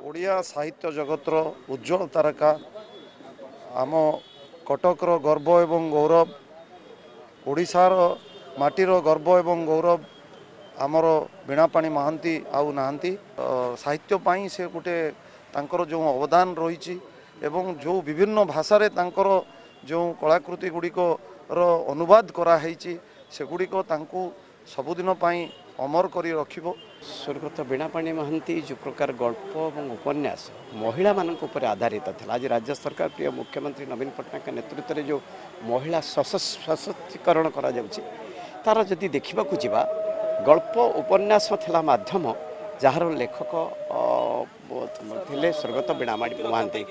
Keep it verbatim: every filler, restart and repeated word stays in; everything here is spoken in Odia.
ଓଡ଼ିଆ ସାହିତ୍ୟ ଜଗତର ଉଜ୍ଜଳ ତାରକା, ଆମ କଟକର ଗର୍ବ ଏବଂ ଗୌରବ, ଓଡ଼ିଶାର ମାଟିର ଗର୍ବ ଏବଂ ଗୌରବ ଆମର ବୀଣାପାଣି ମହାନ୍ତି ଆଉ ନାହାନ୍ତି। ସାହିତ୍ୟ ପାଇଁ ସେ ଗୋଟେ ତାଙ୍କର ଯେଉଁ ଅବଦାନ ରହିଛି ଏବଂ ଯେଉଁ ବିଭିନ୍ନ ଭାଷାରେ ତାଙ୍କର ଯେଉଁ କଳାକୃତି ଗୁଡ଼ିକର ଅନୁବାଦ କରାହେଇଛି, ସେଗୁଡ଼ିକ ତାଙ୍କୁ ସବୁଦିନ ପାଇଁ ଅମର କରି ରଖିବ। ସ୍ୱର୍ଗତ ବୀଣାପାଣି ମହାନ୍ତି ଯେଉଁ ପ୍ରକାର ଗଳ୍ପ ଏବଂ ଉପନ୍ୟାସ ମହିଳାମାନଙ୍କ ଉପରେ ଆଧାରିତ ଥିଲା, ଆଜି ରାଜ୍ୟ ସରକାର ପ୍ରିୟ ମୁଖ୍ୟମନ୍ତ୍ରୀ ନବୀନ ପଟ୍ଟନାୟକଙ୍କ ନେତୃତ୍ୱରେ ଯେଉଁ ମହିଳା ସଶକ୍ତିକରଣ କରାଯାଉଛି, ତାର ଯଦି ଦେଖିବାକୁ ଯିବା, ଗଳ୍ପ ଉପନ୍ୟାସ ଥିଲା ମାଧ୍ୟମ, ଯାହାର ଲେଖକ ଥିଲେ ସ୍ୱର୍ଗତ ବୀଣାପାଣି ମହାନ୍ତି।